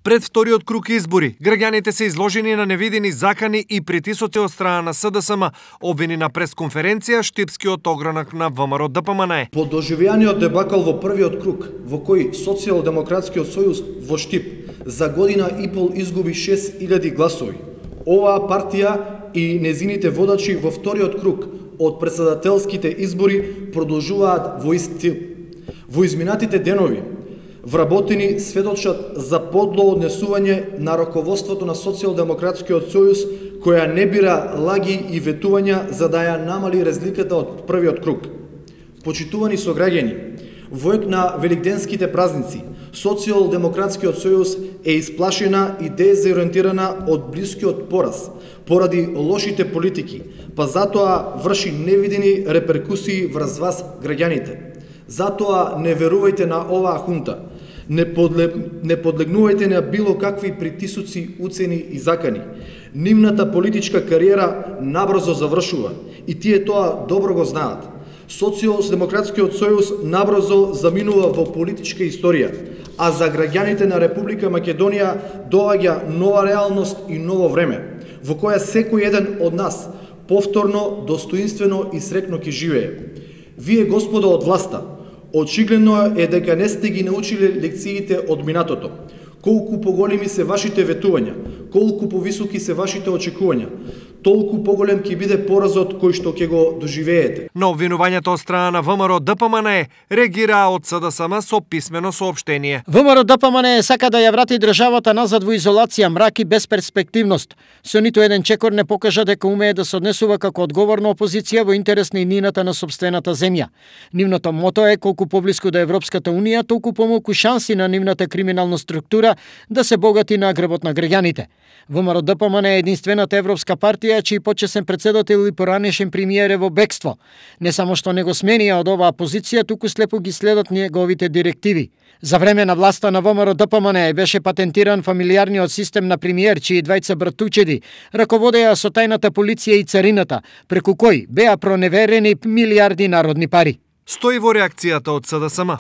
Пред вториот круг избори, граѓаните се изложени на невидени закани и притисоци од страна на СДСМ, обвини на пресконференција штипскиот огранак на ВМРО ДПМНЕ. По доживеаниот дебакал во првиот круг, во кој Социјалдемократскиот сојуз во Штип за година и пол изгуби 6000 гласови, оваа партија и незините водачи во вториот круг од претседателските избори продолжуваат во ист стил. Во изминатите денови, вработени сведочат за подло однесување на раководството на Социјалдемократскиот сојуз, која не бира лаги и ветувања за да ја намали разликата од првиот круг. Почитувани сограѓани, во ек на великденските празници, Социјалдемократскиот сојуз е исплашена и дезориентирана од блискиот пораз, поради лошите политики, па затоа врши невидени реперкусии врз вас граѓаните. Затоа не верувајте на оваа хунта, не подлегнувајте на било какви притисоци, уцени и закани. Нивната политичка кариера набрзо завршува и тие тоа добро го знаат. Социјалдемократскиот сојуз набрзо заминува во политичка историја, а за граѓаните на Република Македонија доаѓа нова реалност и ново време, во која секој еден од нас повторно, достоинствено и среќно ќе живее. Вие, господа од власта, очигледно е дека не сте ги научиле лекциите од минатото. Колку поголеми се вашите ветувања, колку повисоки се вашите очекувања, толку поголем ќе биде поразот кој што ќе го доживеете. На обвинувањето од страна на ВМРО ДПМНЕ реагираа од СДСМ со писмено соопштение. ВМРО ДПМНЕ сака да ја врати државата назад во изолација, мрак и безперспективност. Со ниту еден чекор не покажа дека умее да се однесува како одговорна опозиција во интерес на иднината на сопствената земја. Нивното мото е колку поблиску до Европската унија, толку помалку шанси на нивната криминална структура да се богати на грбот на граѓаните. ВМРО ДПМНЕ е единствената европска партија чиј почесен председател и поранешен премиер е во бегство. Не само што не го сменија од оваа позиција, туку слепо ги следат неговите директиви. За време на власта на ВМРО ДПМНЕ беше патентиран фамилиарниот систем на премиер, чии двајца братучеди раководеа со тајната полиција и царината, преку кој беа проневерени милиарди народни пари. Стои во реакцијата од СДСМ.